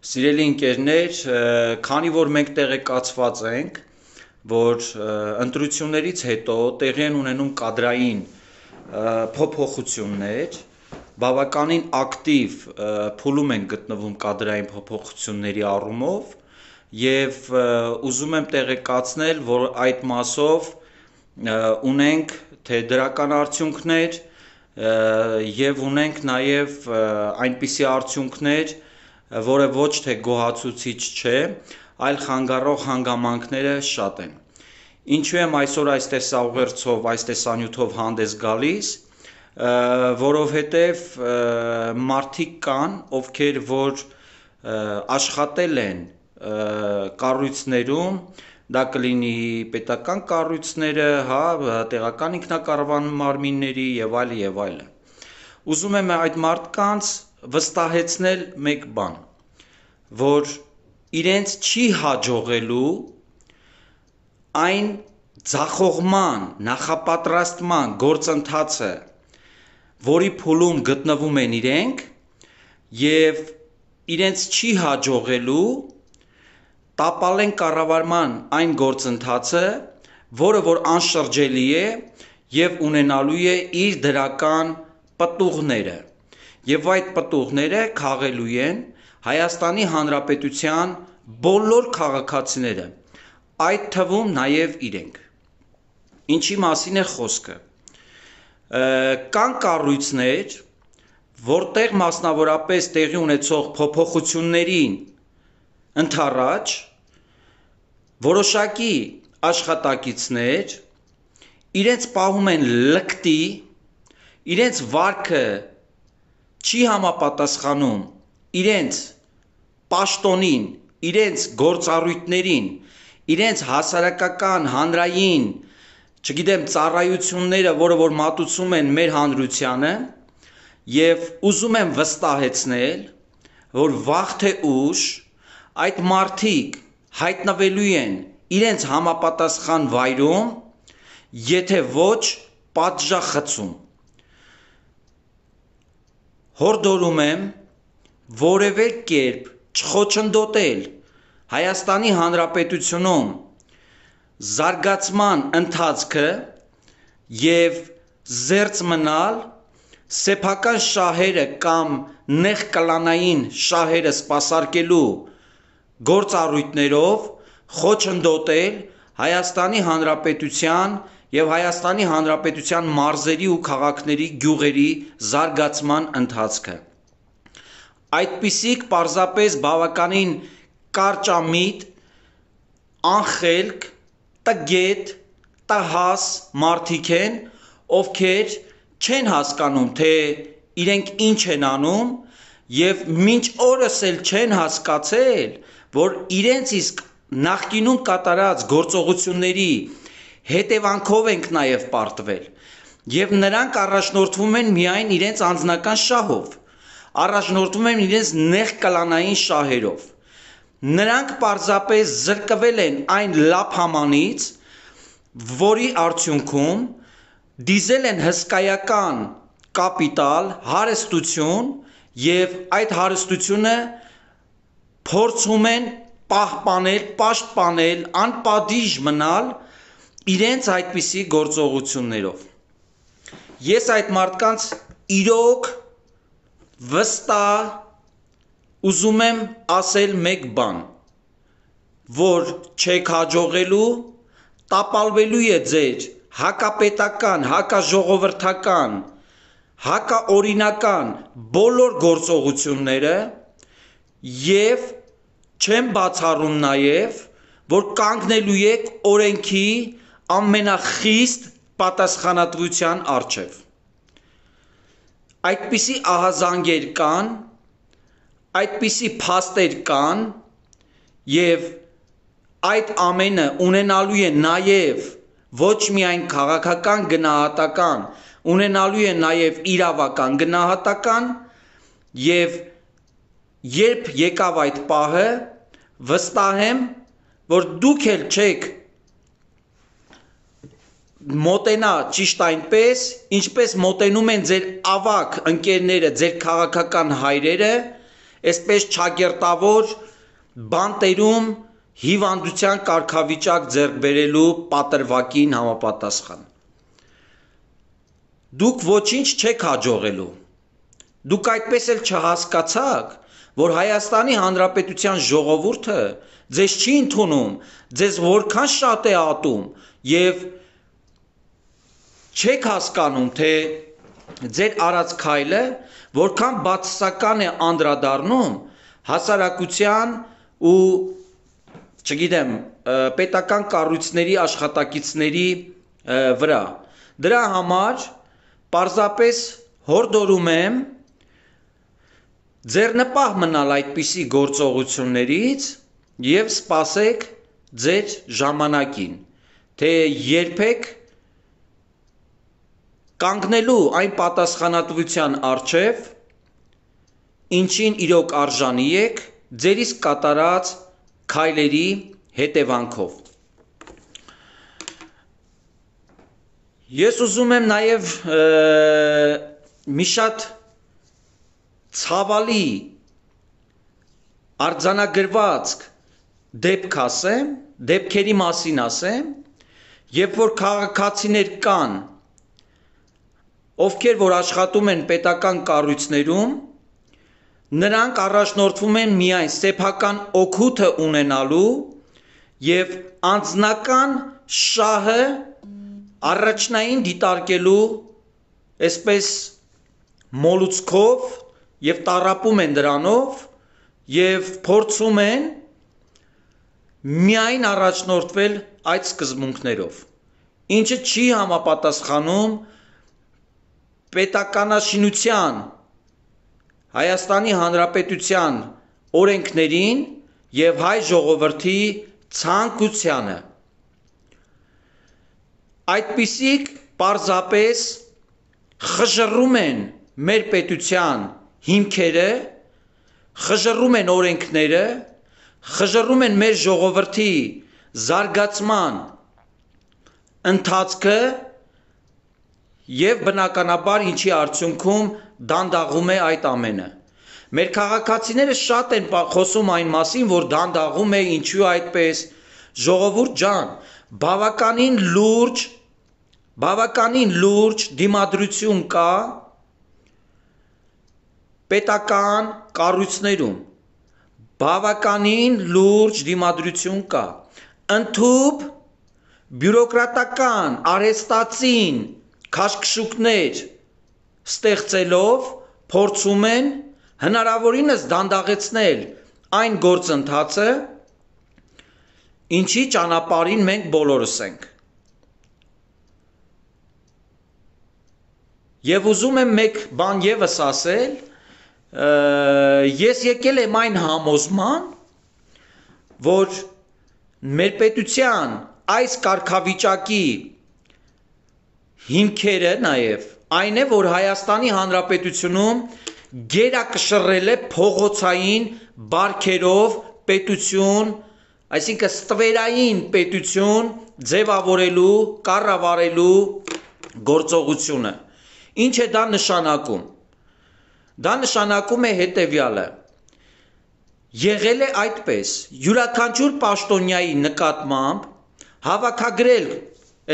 Սիրելի ընկերներ, քանի որ մենք տեղեկացված ենք, որ ընտրություններից հետո տեղի են ունենում կադրային փոփոխություններ, բավականին ակտիվ փուլում են գտնվում կադրային փոփոխությունների առումով եւ ուզում եմ տեղեկացնել, որ այդ մասով ունենք թե դրական արդյունքներ եւ ունենք նաեւ այնպիսի արդյունքներ, որը ոչ թե գոհացուցիչ չէ, այլ խանգարող հանգամանքները շատ են։ Ինչու եմ այսօր այս տեսաուղերձով, այս տեսանյութով հանդես գալիս, որովհետև մարդիկ կան, ովքեր որ աշխատել են կառույցներում, դա կլինի պետական կառույցները, տեղական ինքնակառավարման մարմինների եւ այլն։ Ուզում եմ այդ մարդկանց վստահեցնել մեկ բան, որ իրենց չի հաջողելու այն ձախողման, նախապատրաստման գործընթացը, որի փուլում գտնվում են իրենք եւ իրենց չի հաջողելու տապալեն կառավարման այն գործընթացը, որը որ անշրջելի է եւ ունենալու է իր դրական պտուղները։ Եվ այդ պտուղները քաղելու են Հայաստանի Հանրապետության բոլոր քաղաքացիները, այդ թվում նաև իրենք։ Ինչի մասին է խոսքը։ Կան կառույցներ, որտեղ մասնավորապես տեղի ունեցող փոփոխություններին ընդառաջ որոշակի աշխատակիցներ իրենց պահում են լկտի, իրենց վարքը չի համապատասխանում իրենց պաշտոնին, իրենց գործառույթներին, իրենց հասարակական, հանրային, չգիտեմ, ծառայությունները, որը որ մատուցում են մեր հանրությանը, եւ ուզում եմ վստահեցնել, որ վաղ թե ուշ այդ մարդիկ հայտնվելու են իրենց համապատասխան վայրում, եթե ոչ պատժախցում։ Հորդորում եմ որևէ կերպ չխոչընդոտել Հայաստանի Հանրապետությունում զարգացման ընթացքը եւ զերծ մնալ սեփական շահերը կամ նեղ կլանային շահերը սպասարկելու գործառույթներով խոչընդոտել Հայաստանի Հանրապետության եւ Հայաստանի Հանրապետության մարզերի ու քաղաքների գյուղերի զարգացման ընթացքը։ Այդպիսիք պարզապես բավականին կարճամիտ, անխելք, տգետ, տհաս մարդիկ են, ովքեր չեն հասկանում, թե իրենք ինչ են անում եւ մինչ օրս էլ չեն հասկացել, որ իրենց իսկ նախկինում կատարած գործողությունների հետևանքով ենք նաև պարտվել եւ նրանք առաջնորդվում են միայն իրենց անձնական շահով, առաջնորդվում են իրենց նեղ կլանային շահերով։ Նրանք պարզապես զրկվել են այն լափամանից, որի արդյունքում դիզել են հսկայական կապիտալ, հարստություն եւ այդ հարստությունը փորձում են պահպանել, պաշտպանել, անպատիժ մնալ իրենց այդպիսի գործողություններով։ Ես այդ մարդկանց իրոք վստահ ուզում եմ ասել մեկ բան, որ չեք հաջողելու, տապալվելու է ձեր հակապետական, հակաժողովրդական, հակաօրինական բոլոր գործողությունները եւ չեմ բացառում նաեւ, որ կանգնելու եք օրենքի ամենախիստ պատասխանատվության առջև։ Այդպիսի ահազանգեր կան, այդպիսի փաստեր կան եւ այդ ամենը ունենալու է նաեւ ոչ միայն քաղաքական գնահատական, ունենալու է նաեւ իրավական գնահատական եւ երբ եկավ այդ պահը, վստահ եմ, որ դուք էլ չեք մոտենա ճիշտ այնպես, ինչպես մոտենում են ձեր ավակ ընկերները, ձեր քաղաքական հայրերը, այսպես չակերտավոր բանտերում հիվանդության կարգավիճակ ձեռք բերելու պատրվակին համապատասխան։ Դուք ոչինչ չեք հաջողելու։ Դուք այդպես էլ չհասկացաք, որ Հայաստանի Հանրապետության ժողովուրդը ձեզ չի ընդունում, ձեզ որքան շատ է ատում եւ չեք հասկանում, թե ձեր արած քայլը որքան բացասական է անդրադառնում հասարակության ու չգիտեմ, պետական կառույցների աշխատակիցների վրա։ Դրա համար պարզապես հորդորում եմ ձեռնպահ մնալ այդպիսի գործողություններից եւ սպասեք ձեր ժամանակին, թե երբեք կանգնելու այն պատասխանատվության առջև, ինչին իրոք արժանի եք ձեր իսկ կատարած քայլերի հետևանքով։ Ես ուզում եմ նաև մի շատ ցավալի արձանագրվածք դեպքերի մասին ասեմ, երբ որ քաղաքացիներ կան, ովքեր որ աշխատում են պետական կառույցներում, նրանք առաջնորդվում են միայն սեփական օգուտը ունենալու եւ անձնական շահը առաջնային դիտարկելու այսպես մոլուցքով եւ տառապում են դրանով եւ փորձում են միայն առաջնորդվել այդ սկզբունքներով, ինչը չի համապատասխանում պետականաշինության Հայաստանի Հանրապետության օրենքներին եւ հայ ժողովրդի ցանկությանը։ Այդպիսիք պարզապես խժռում են մեր պետության հիմքերը, խժռում են օրենքները, խժռում են մեր ժողովրդի զարգացման ընթացքը եւ բնականաբար ինչի արդյունքում դանդաղում է այդ ամենը։ Մեր քաղաքացիները շատ են խոսում այն մասին, որ դանդաղում է, ինչու այդպես։ Ժողովուրդ ջան, բավականին լուրջ դիմադրություն կա պետական կառույցներում, բավականին լուրջ դիմադրություն կա։ Ընդհուպ բյուրոկրատական արհեստածին քաշքշուկներ ստեղծելով փորձում են հնարավորինս դանդաղեցնել այն գործընթացը, ինչի ճանապարհին մենք բոլորս ենք։ Եվ ուզում եմ մեկ բան եւս ասել, ես եկել եմ այն համոզման, որ մեր պետության այս կարգավիճակի հիմքերը նաև այն է, որ Հայաստանի Հանրապետությունում գերակշռել է փողոցային բարքերով պետություն, այսինքն ստվերային պետություն ձևավորելու, կառավարելու գործողությունը։ Ինչ է դա նշանակում։ Դա նշանակում է հետևյալը. եղել է այդպես, յուրաքանչյուր պաշտոնյայի նկատմամբ հավաքագրել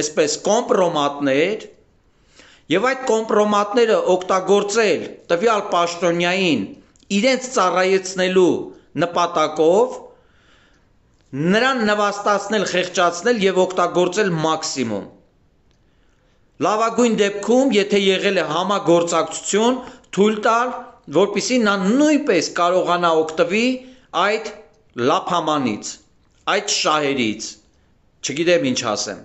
այսպես կոմպրոմատներ եւ այդ կոմպրոմատները օգտագործել տվյալ պաշտոնյային իրենց ծառայեցնելու նպատակով նրան նվաստացնել, խեղճացնել եւ օգտագործել մաքսիմում։ Լավագույն դեպքում, եթե եղել է համագործակցություն, թույլ տալ, որպեսզի նա նույնպես կարողանա օգտվի այդ լափամանից, այդ շահերից, չգիտեմ ինչ ասեմ։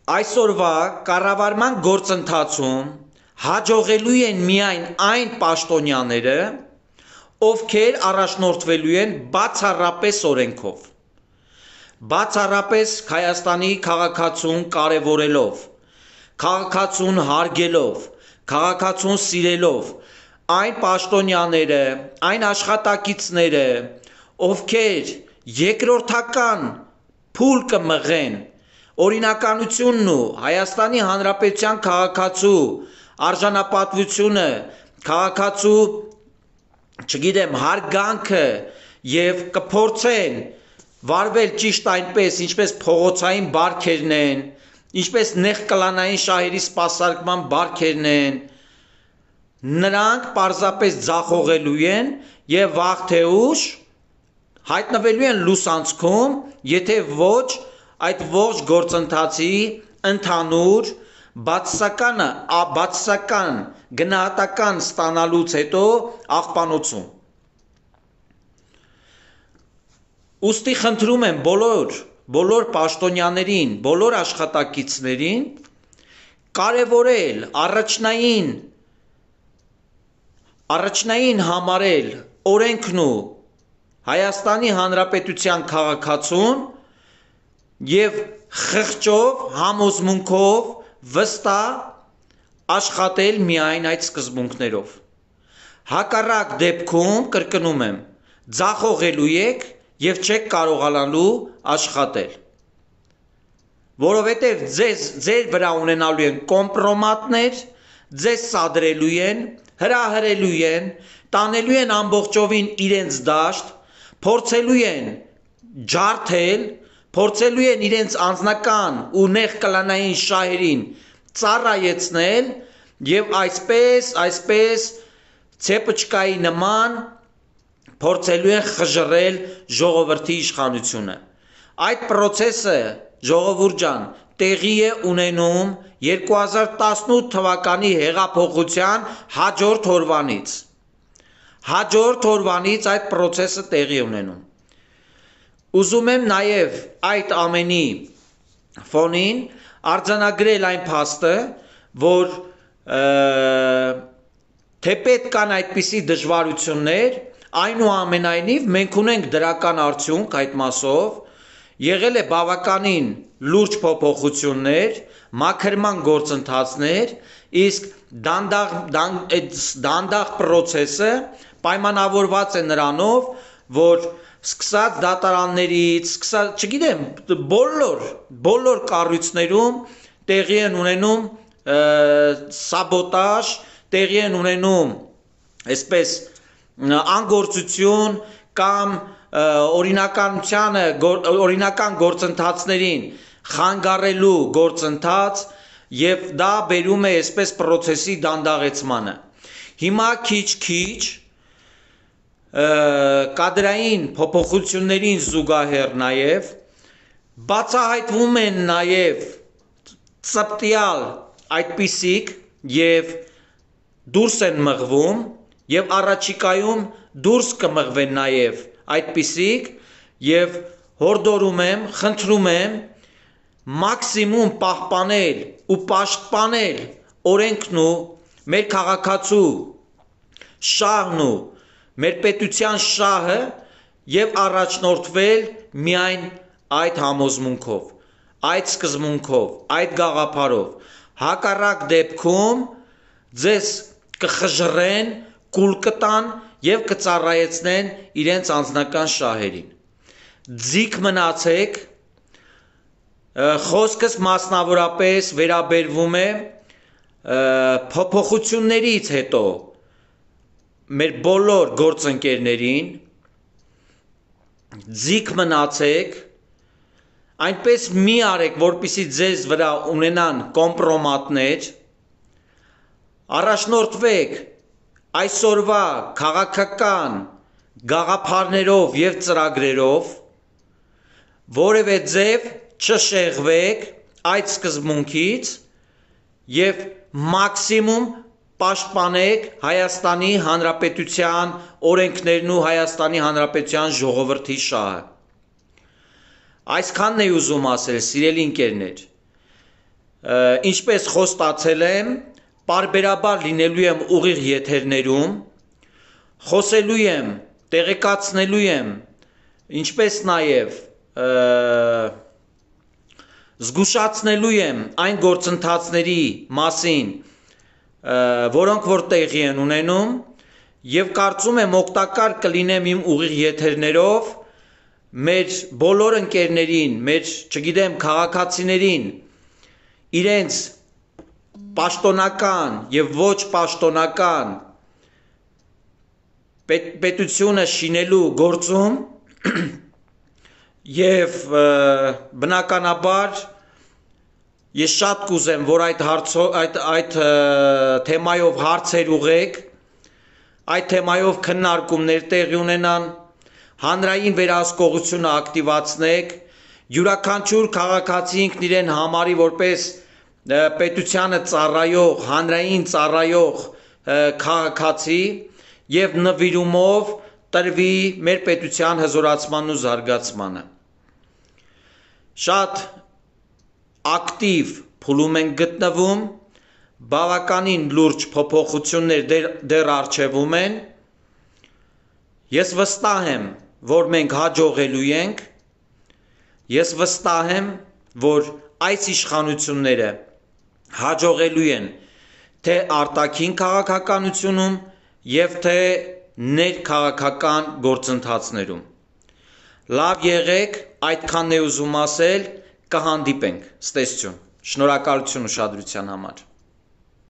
Այսօրվա կառավարման գործընթացում հաջողելու են միայն այն պաշտոնյաները, ովքեր առաջնորդվելու են բացառապես օրենքով, բացառապես Հայաստանի քաղաքացուն կարևորելով, քաղաքացուն հարգելով, քաղաքացուն սիրելով, այն պաշտոնյաները, այն աշխատակիցները, ովքեր երկրորդական փուլ կմղեն օրինականությունն ու Հայաստանի Հանրապետության քաղաքացու արժանապատվությունը, քաղաքացու, չգիտեմ, հարգանքը եւ կփորձեն վարվել ճիշտ այնպես, ինչպես փողոցային բարքերն են, ինչպես նեղկլանային շահերի սպասարկման բարքերն են, նրանք պարզապես ձախողելու են եւ վաղ թե ուշ հայտնվելու են լուսանցքում, եթե ոչ այդ ողջ գործընթացի ընդհանուր բացասական գնահատական ստանալուց հետո աղբանոցում։ Ուստի խնդրում եմ բոլոր պաշտոնյաներին, բոլոր աշխատակիցներին կարևորել առաջնային համարել օրենքն ու Հայաստանի Հանրապետության քաղաքացուն եւ խղճով, համոզմունքով վստահ աշխատել միայն այդ սկզբունքներով։ Հակառակ դեպքում, կրկնում եմ, ձախողելու եք եւ չեք կարողանալու աշխատել։ Որովհետեւ ձեր վրա ունենալու են կոմպրոմատներ, ձեզ սադրելու են, հրահրելու են, տանելու են ամբողջովին իրենց դաշտ, փորձելու են ջարդել, փորձելու են իրենց անձնական ու նեղկլանային շահերին ծառայեցնել եւ այսպես ցեպչկայի նման փորձելու են խժռել ժողովրդի իշխանությունը։ Այդ process-ը, ժողովուրդ ջան, տեղի է ունենում 2018 թվականի հեղափոխության հաջորդ օրվանից։ Հաջորդ օրվանից այդ process-ը տեղի ունենում։ Ուզում եմ նաև այդ ամենի ֆոնին արձանագրել այն փաստը, որ թեպետ կան այդպիսի դժվարություններ, այնուամենայնիվ մենք ունենք դրական արդյունք այդ մասով, եղել է բավականին լուրջ փոփոխություններ, մաքրման գործընթացներ, իսկ դանդաղ process-ը պայմանավորված է նրանով, որ սկսած դատարաններից, չգիտեմ, բոլոր կառույցներում տեղի են ունենում սաբոտաժ, տեղի են ունենում այսպես անգործություն կամ օրինական գործընթացներին խանգարելու գործընթաց եւ դա բերում է այսպես process-ի դանդաղեցմանը։ Հիմա քիչ կադրային փոփոխություններին զուգահեռ նաև բացահայտվում են նաև ծպտյալ այդպիսիք եւ դուրս են մղվում եւ առաջիկայում դուրս կմղվեն նաև այդպիսիք եւ հորդորում եմ, խնդրում եմ մաքսիմում պահպանել ու պաշտպանել օրենքն ու մեր քաղաքացու շահն ու մեր պետության շահը եւ առաջնորդվել միայն այդ համոզմունքով, այդ սկզբունքով, այդ գաղափարով։ Հակառակ դեպքում ձեզ կխժռեն, կուլ կտան եւ կծառայեցնեն իրենց անձնական շահերին։ Ձիգ մնացեք, խոսքս մասնավորապես վերաբերվում է փոփոխություններից հետո մեր բոլոր գործընկերներին, ձիգ մնացեք, այնպես մի արեք, որպեսզի ձեզ վրա ունենան կոմպրոմատներ, առաջնորդվեք այսօրվա քաղաքական գաղափարներով եւ ծրագրերով, որևէ ձև չշեղվեք այդ սկզբունքից եւ մաքսիմում պաշտպանեք Հայաստանի Հանրապետության օրենքներն ու Հայաստանի Հանրապետության ժողովրդի շահը։ Այսքանն էի ուզում ասել, սիրելի ընկերներ։ Ինչպես խոստացել եմ, պարբերաբար լինելու եմ ուղիղ եթերներում, խոսելու եմ, տեղեկացնելու եմ, ինչպես նաև զգուշացնելու եմ այն գործընթացների մասին, որոնք որ տեղի են ունենում եւ կարծում եմ օգտակար կլինեմ իմ ուղիղ եթերներով մեր բոլոր ընկերներին, մեր, չգիտեմ, քաղաքացիներին իրենց պաշտոնական եւ ոչ պաշտոնական պետությունը շինելու գործում եւ բնականաբար ես շատ կուզեմ, որ այդ թեմայով հարցեր ուղեք, այդ թեմայով քննարկումներ տեղի ունենան, հանրային վերահսկողությունը ակտիվացնեք, յուրաքանչյուր քաղաքացի ինքն իրեն համարի որպես պետությանը ծառայող, հանրային ծառայող քաղաքացի եւ նվիրումով տրվի մեր պետության հզորացմանն ու զարգացմանը։ Շատ ակտիվ փուլում են գտնվում, բավականին լուրջ փոփոխություններ դեռ առջևում են։ Ես վստահ եմ, որ մենք հաջողելու ենք, ես վստահ եմ, որ այս իշխանությունները հաջողելու են թե արտաքին քաղաքականությունում եւ թե ներքաղաքական գործընթացներում։ Լավ եղեք, այդքանն է ուզում ասել, կհանդիպենք, ցտեսություն, շնորհակալություն ուշադրության համար։